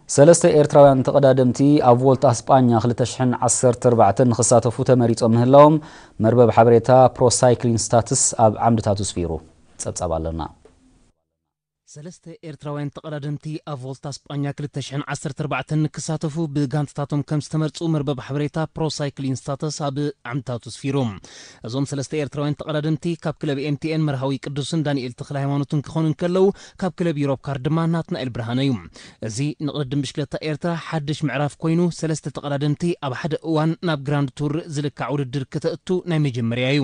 ሰለስተ ኤርትራውያን ተቐዳደምቲ ኣብ ቮልታ ስጳኛ ክልተ ሽሕን ዓሰርተ ኣርባዕተን ንኽሳተፉ ተመሪጾም ምህላዎም መርበብ ሓበሬታ ፕሮ ሳይክሊን ስታትስ ኣብ ዓምድታቱ ስፊሩ። ጸብጻብ ኣለና። ሰለስተ ኤርትራውያን ተቐዳደምቲ ኣብ ቮልታ ስጳኛ ክልተ ሽሕን ዓሰርተ ኣርባዕተን ንክሳተፉ ብጋንታታቶም ከም ዝተመርጹ መርበብ ሓበሬታ ፕሮ ሳይክሊን ስታተስ ኣብ ዓምድታቱ ስፊሩ። እዞም ሰለስተ ኤርትራውያን ተቐዳደምቲ ካብ ክለብ ኤምቲኤን መርሃዊ ቅዱስን ዳንኤል ተኽለ ሃይማኖትን ክኾኑ እንከለዉ፣ ካብ ክለብ ዩሮፕ ካር ድማ ናትናኤል ብርሃነ እዩ። እዚ ንቕድድም ብሽክለታ ኤርትራ ሓድሽ ምዕራፍ ኮይኑ፣ ሰለስተ ተቐዳደምቲ ኣብ ሓደ እዋን ናብ ግራንድ ቱር ዝልካዕ ውድድር ከተእቱ ናይ መጀመርያ እዩ።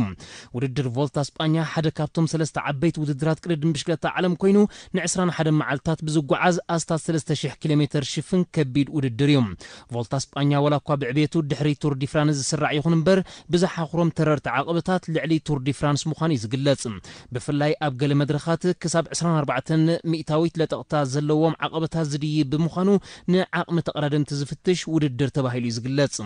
ውድድር ቮልታ ስጳኛ ሓደ ካብቶም ሰለስተ ዓበይቲ ውድድራት ቅድድም ብሽክለታ ዓለም ኮይኑ፣ ን ዕስራን ሓደን መዓልታት ብዝጓዓዝ ኣስታት ሰለስተ ሽሕ ኪሎ ሜተር ሽፍን ከቢድ ውድድር እዩ። ቮልታ ስጳኛ ዋላ እኳ ብዕቤቱ ድሕሪ ቱር ዲ ፍራንስ ዝስራዕ ይኹን እምበር፣ ብዝሓኹሮም ተረርቲ ዓቐበታት ልዕሊ ቱር ዲ ፍራንስ ምዃኑ እዩ ዝግለጽ። ብፍላይ ኣብ ገለ መድረኻት ክሳብ ዕስራን ኣርባዕተን ሚእታዊት ለጠቕታ ዘለዎም ዓቐበታት ዝድይብ ብምዃኑ፣ ንዓቕሚ ተቐዳደምቲ ዝፍትሽ ውድድር ተባሂሉ እዩ ዝግለጽ።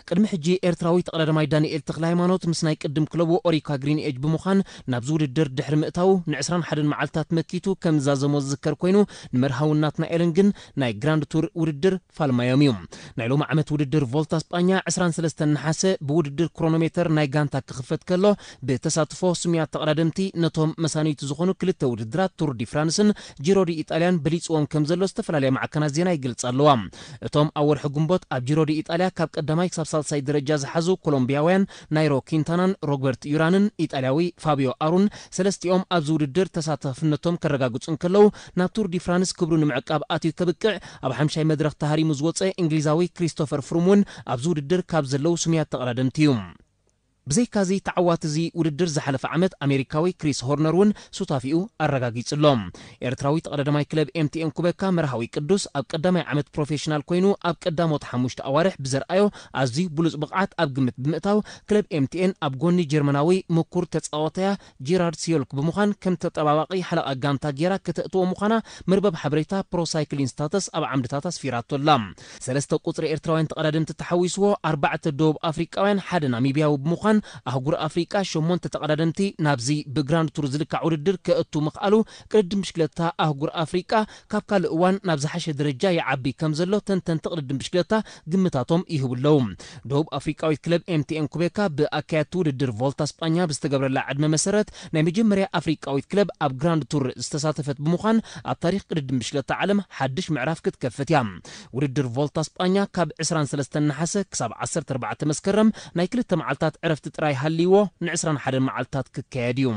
ቅድሚ ሕጂ ኤርትራዊ ተቐዳዳማይ ዳንኤል ተኽለ ሃይማኖት ምስ ናይ ቅድም ክለቡ ኦሪካ ግሪን ኤጅ ብምዃን ናብዚ ውድድር ድሕሪ ምእታዉ ን ዕስራን ሓደን መዓልታት መኪቱ ከም ዝዛዘሞ ዝዝከር ኮይኑ፣ ንመርሃውን ናትናኤልን ግን ናይ ግራንድ ቱር ውድድር ፋልማዮም እዩ። ናይ ሎሚ ዓመት ውድድር ቮልታ ስጳኛ ዕስራን ሰለስተን ነሓሰ ብውድድር ክሮኖሜተር ናይ ጋንታ ክኽፈት ከሎ፣ ብተሳትፎ ስሙያት ተቐዳደምቲ ነቶም መሳንይቲ ዝኾኑ ክልተ ውድድራት ቱር ዲ ፍራንስን ጂሮ ዲ ኢጣልያን በሊጽዎም ከም ዘሎ ዝተፈላለያ ማዕከናት ዜና ይገልጻ ኣለዋ። እቶም ኣብ ወርሒ ግንቦት ኣብ ጂሮ ዲ ኢጣልያ ካብ ቀዳማይ ክሳብ ሳልሳይ ደረጃ ዝሓዙ ኮሎምቢያውያን ናይሮ ኪንታናን ሮበርት ዩራንን ኢጣልያዊ ፋቢዮ ኣሩን ሰለስቲኦም ኣብዚ ውድድር ተሳታፍነቶም ከረጋግጹ እንከለዉ፣ ናብ ቱር ዲ ፍራንስ ክብሩ ንምዕቃብ ኣትዩ ከብቅዕ ኣብ ሓምሻይ መድረኽ ተሃሪሙ ዝወጸ እንግሊዛዊ ክሪስቶፈር ፍሩም እውን ኣብዚ ውድድር ካብ ዘለዉ ስሙያት ተቐዳደምቲ እዩ። ብዘይካዚ ተዓዋቲ እዚ ውድድር ዝሓለፈ ዓመት ኣሜሪካዊ ክሪስ ሆርነር እውን ሱታፊኡ ኣረጋጊጹ ኣሎ። ኤርትራዊ ተቐዳዳማይ ክለብ ኤምቲኤን ኩበካ መርሃዊ ቅዱስ ኣብ ቀዳማይ ዓመት ፕሮፌሽናል ኮይኑ ኣብ ቀዳሞት ሓሙሽተ ኣዋርሕ ብዘርኣዮ ኣዝዩ ብሉጽ ብቕዓት ኣብ ግምት ብምእታው ክለብ ኤምቲኤን ኣብ ጎኒ ጀርመናዊ ምኩር ተጻዋታያ ጂራርድ ሲዮልክ ብምዃን ከም ተጠባባቒ ሓለቓ ጋንታ ጌራ ከተእትዎ ምዃና መርበብ ሓበሬታ ፕሮ ሳይክሊን ስታተስ ኣብ ዓምድታት ኣስፊራቶ ኣላ። ሰለስተ ቁጽሪ ኤርትራውያን ተቐዳደምቲ ተሓዊስዎ ኣርባዕተ ደቡብ ኣፍሪቃውያን ሓደ ናሚብያዊ ብምዃን ኣህጉር ኣፍሪቃ ሸሞንተ ተቐዳደምቲ ናብዚ ብግራንድ ቱር ዝልካዕ ውድድር ከእቱ ምኽኣሉ ቅድድም ብሽክለታ ኣህጉር ኣፍሪቃ ካብ ካልእ እዋን ናብ ዝሓሸ ደረጃ ይዓቢ ከም ዘሎ ተንተንቲ ቅድድም ብሽክለታ ግምታቶም ይህቡ ኣለዉ። ደቡብ ኣፍሪቃዊት ክለብ ኤምቲኤን ኩቤካ ብኣካየድቲ ውድድር ቮልታ ስጳኛ ብዝተገብረላ ዕድመ መሰረት ናይ መጀመርያ ኣፍሪቃዊት ክለብ ኣብ ግራንድ ቱር ዝተሳተፈት ብምዃን ኣብ ታሪኽ ቅድድም ብሽክለታ ዓለም ሓድሽ ምዕራፍ ክትከፍት እያ። ውድድር ቮልታ ስጳኛ ካብ ዕስራን ሰለስተን ነሓሰ ክሳብ ዓሰርተ ኣርባዕተ መስከረም ናይ ክልተ መዓልታት ዕረፍቲ ጥራይ ሃልይዎ ን ዕስራን ሓደን መዓልታት ክካየድ እዩ።